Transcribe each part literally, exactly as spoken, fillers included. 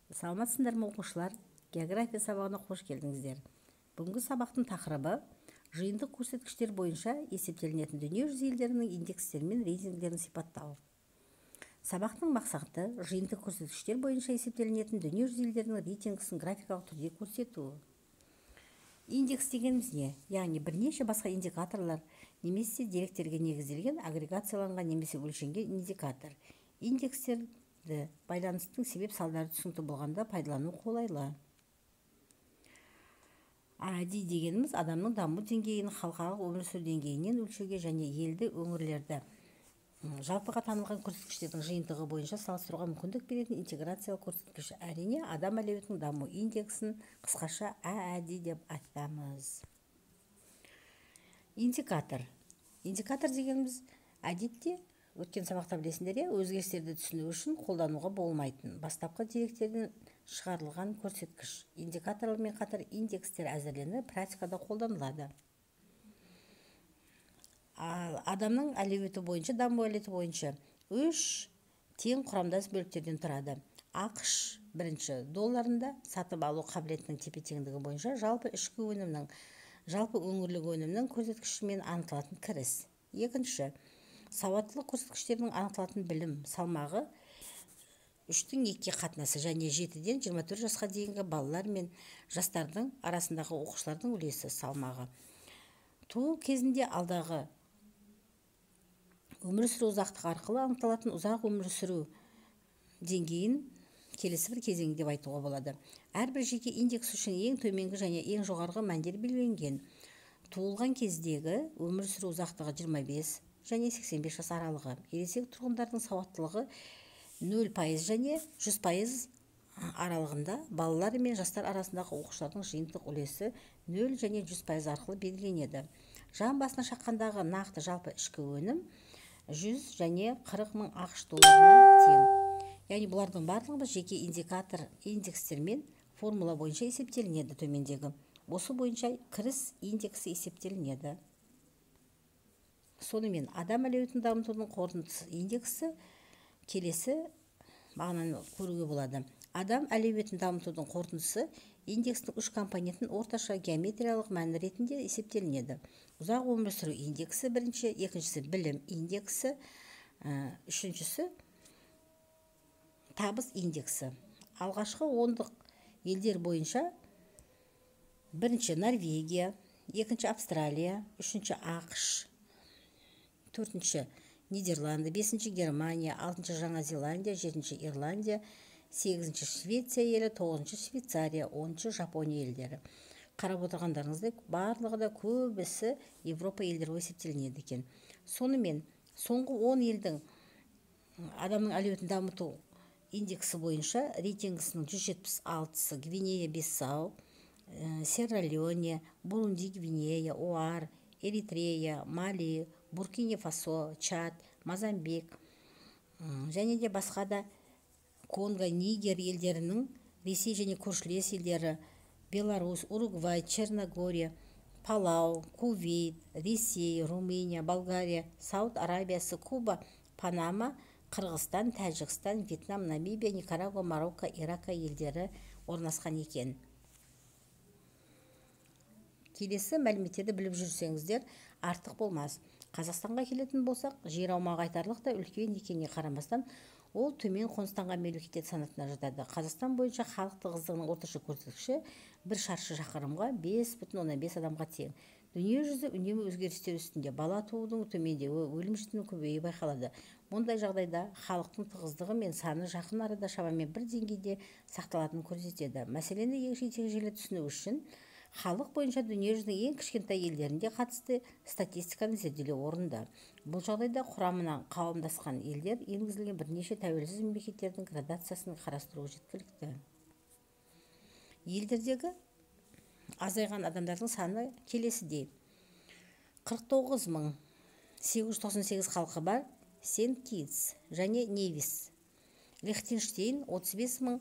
Саламатсыздар ма оқушылар? География сабағына қош келдіңіздер. Бүгінгі сабақтың тақырыбы жиынтық көрсеткіштер бойынша есептелінетін дүние жүзі елдерінің индекстері мен рейтингтерін сипаттау. Сабақтың мақсаты жиынтық көрсеткіштер бойынша есептелінетін дүние жүзі елдерінің рейтингісін графикалық түрде көрсету. Индекс дегеніміз не? Яғни бірнеше басқа индикаторлар немесе деректерге негізделген агрегацияланған немесе өлшенген индикатор. Индекстерді байланыстың себеп салдары түсінікті болғанда пайдалану қолайлы. АД дегеніміз адамның даму деңгейін халықаралық өмір сүру деңгейінен өлшеуге және елді өңірлерді жалпыға танылған көрсеткіштердің жиынтығы бойынша салыстыруға мүмкіндік беретін интеграциялық көрсеткіш. Әрине, адам әлеуетінің даму индексін қысқаша АД деп айтамыз. Индикатор. Индикатор дегеніміз әдетте өткен сабақта білесіңдер, өзгерістерді түсіну үшін қолдануға болмайтын бастапқы деректерден шығарылған көрсеткіш. Индикаторлармен қатар индекстер әзірленіп практикада қолданылады. Адамның әлеуеті бойынша, даму әлеуеті бойынша үш тең құрамдас бөліктерден тұрады. ақш бірінші долларында сатып алу қабілетінің тепе-теңдігі бойынша жалпы ішкі өнімнің, жалпы өңірлік өнімнің көрсеткішімен анықталатын кіріс. Екінші, сауаттылық көрсеткіштерінің анықталатын білім салмағы үштің екіге қатынасы және жетіден жиырма төрт жасқа дейінгі балалар мен жастардың арасындағы оқушылардың үлесі салмағы. Туу кезінде алдағы өмір сүру ұзақтығы арқылы анықталатын ұзақ өмір сүру деңгейін келесі бір кезең деп айтуға болады. Әрбір жеке индекс үшін ең төменгі және ең жоғарғы мәндер белгіленген. Туылған кездегі өмір сүру ұзақтығы жиырма бес және сексен бес жас аралығы. Ересек тұрғындардың сауаттылығы нөл пайыз және жүз пайыз аралығында, балалар мен жастар арасындағы оқушылардың жиынтық үлесі нөл және жүз пайыз арқылы белгіленеді. Жан басына шаққандағы нақты жалпы ішкі өнім жүз және қырық мың ақш долларына тең. Яғни бұлардың барлығы жеке индикатор индекстермен формула бойынша есептелінеді төмендегі. Осы бойынша кіріс индексі есептелінеді. Сонымен адам әлеуетін дамытудың қорытындысы индексі келесі мағынаны көруге болады. Адам әлеуетін дамытудың қорытындысы индекстің үш компонентін орташа геометриялық мәні ретінде есептелінеді. Ұзақ өмір сүру индексі бірінші, екіншісі білім индексі, үшіншісі табыс индексі. Алғашқы ондық елдер бойынша бірінші Норвегия, екінші Австралия, үшінші ақш, төртінші Нидерланды, бесінші Германия, алтыншы Жаңа Зеландия, жетінші Ирландия, сегізінші Швеция елі, тоғызыншы Швейцария, оныншы Жапония елдері. Қарап отырғандарыңыздай барлығы да көбісі Европа елдері есептелінеді екен. Сонымен соңғы он елдің адамның әлеуетін дамыту индексі бойынша рейтингісінің жүз жетпіс алтысы Гвинея Бисау, Серра-Леоне, Бурунди Гвинея, ОАР, Эритрея, Мали, Буркина Фасо, Чад, Мозамбик және де басқа да Конго, Нигер елдерінің, Ресей және көршілес елдері, Беларусь, Уругвай, Черногория, Палау, Кувейт, Ресей, Румыния, Болгария, Сауд Арабиясы, Куба, Панама, Қырғызстан, Тәжікстан, Вьетнам, Намибия, Никарагуа, Марокко, Ирака елдері орналасқан екен. Келесі мәліметтерді біліп жүрсеңіздер артық болмас. Қазақстанға келетін болсақ, жер аумағы айтарлықтай үлкен екеніне қарамастан, ол төмен қоныстанған мемлекеттер санатына жатады. Қазақстан бойынша халық тығыздығының орташа көрсеткіші бір шаршы шақырымға бес бүтін оннан бес адамға тең. Дүние жүзі үнемі өзгерістер үстінде, бала туудың төмендеуі, өлім жітімнің көбеюі байқалады. Мұндай жағдайда халықтың тығыздығы мен саны жақын арада шамамен бір деңгейде сақталатынын көрсетеді. Мәселені егжей-тегжейлі түсіну үшін халық бойынша дүние жүзінің ең кішкентай елдерінде қатысты статистиканы зерделеу орынды. Бұл жағдайда құрамына қауымдасқан елдер енгізілген бірнеше тәуелсіз мемлекеттердің градациясын қарастыру жеткілікті. Елдердегі азайған адамдардың саны келесідей. қырық тоғыз мың сегіз жүз тоқсан сегіз халқы бар Сент-Китс және Невис. Лихтенштейн отыз бес мың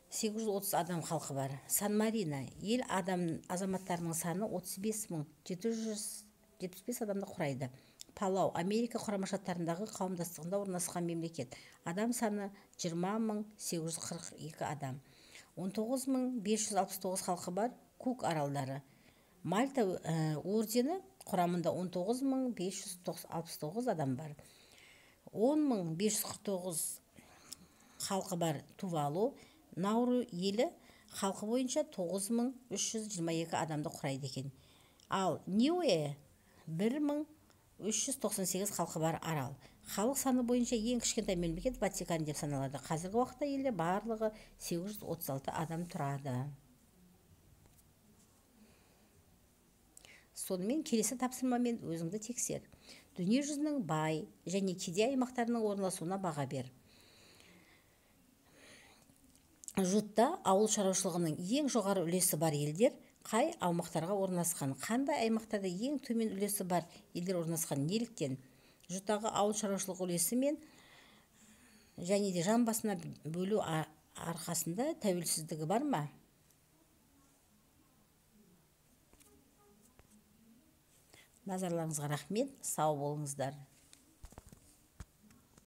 сегіз жүз отыз адам халқы бар. Сан-Марино ел адам азаматтарының саны отыз бес мың жеті жүз жетпіс бес адамды құрайды. Палау Америка Құрама Штаттарындағы қауымдастығында орналасқан мемлекет. Адам саны жиырма мың сегіз жүз қырық екі адам. он тоғыз мың бес жүз алпыс тоғыз халқы бар. Кук аралдары. Мальта ордені құрамында он тоғыз мың бес жүз алпыс тоғыз адам бар. он мың бес жүз қырық тоғыз халқы бар. Тувалу. Науру елі халқы бойынша тоғыз мың үш жүз жиырма екі адамды құрайды екен. Ал Ниуэ бір мың үш жүз тоқсан сегіз халқы бар арал. Халық саны бойынша ең кішкентай мемлекет Ватикан деп саналады. Қазіргі уақытта елде барлығы сегіз жүз отыз алты адам тұрады. Сонымен келесі тапсырмамен өзіңді тексер. Дүние жүзінің бай және кедей аймақтарының орналасуына баға бер. Жутта ауыл шаруашылығының ең жоғары үлесі бар елдер қай аумақтарға орналасқан? Қандай аймақтарда ең төмен үлесі бар елдер орналасқан? Неліктен? Жуттағы ауыл шаруашылығы үлесі мен және де жан басына бөлу арқасында тәуелсіздігі бар ма? Назарларыңызға рахмет, сау болыңыздар.